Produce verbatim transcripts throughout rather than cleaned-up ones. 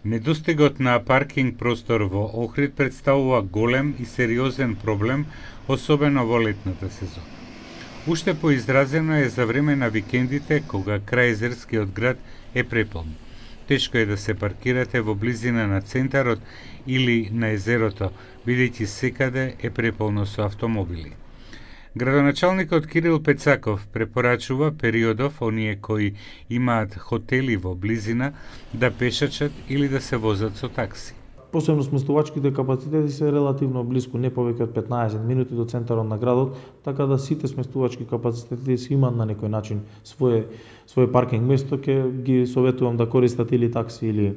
Недостигот на паркинг простор во Охрид представува голем и сериозен проблем, особено во летната сезона. Уште поизразено е за време на викендите, кога крајезерскиот град е преполн. Тешко е да се паркирате во близина на центарот или на езерото, бидејќи секаде е преполно со автомобили. Градоначалникот Кирил Пецаков препорачува периодов оние кои имаат хотели во близина да пешачат или да се возат со такси. Посебно сместувачките капацитети се релативно близко, не повеќе од петнаесет минути до центарот на градот, така да сите сместувачки капацитети си имаат на некој начин свое свое паркинг место, ќе ги советувам да користат или такси или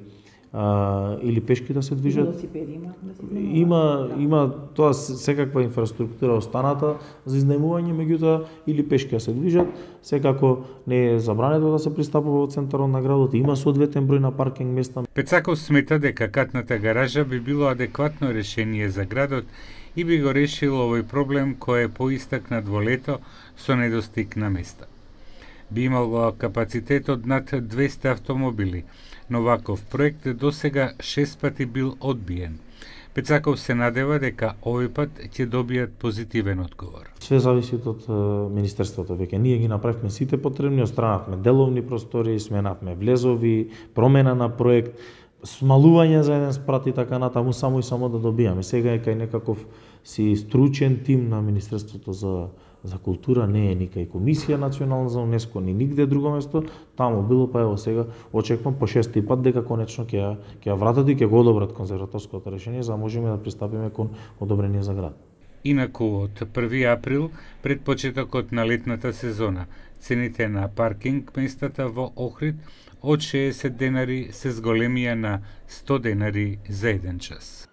а, или пешки да се движат. Велосипеди има, да се Има има тоа секаква инфраструктура останата за изнајмување, меѓутоа или пешки да се движат, секако не е забрането да се пристапува во центарот на градот, има соодветен број на паркинг места. Пецаков смета дека катната гаража би било адекватно решение за градот и би го решило овој проблем кој е поистакнат во лето со недостиг на места. Би имало капацитет од над двесте автомобили, но ваков проект досега шест пати бил одбиен. Пецаков се надева дека овој пат ќе добијат позитивен одговор. Све зависи од министерството. Веќе ние ги направивме сите потребни, отстранавме деловни простори, сменавме влезови, промена на проект, смалување за еден спрат и така натаму, само и само да добијаме. Сега е кај некаков си стручен тим на Министерството за за култура, не е ни кај комисија национална за УНЕСКО, ни нигде друго место, таму било, па ево сега очекувам по шести пат дека конечно ќе ја ќе ја вратат и ќе го одобрат конзерваторското решение за да можеме да пристапиме кон одобрение за град. Инаку од први април, пред почетокот на летната сезона, цените на паркинг местата во Охрид од шеесет денари се зголемија на сто денари за еден час.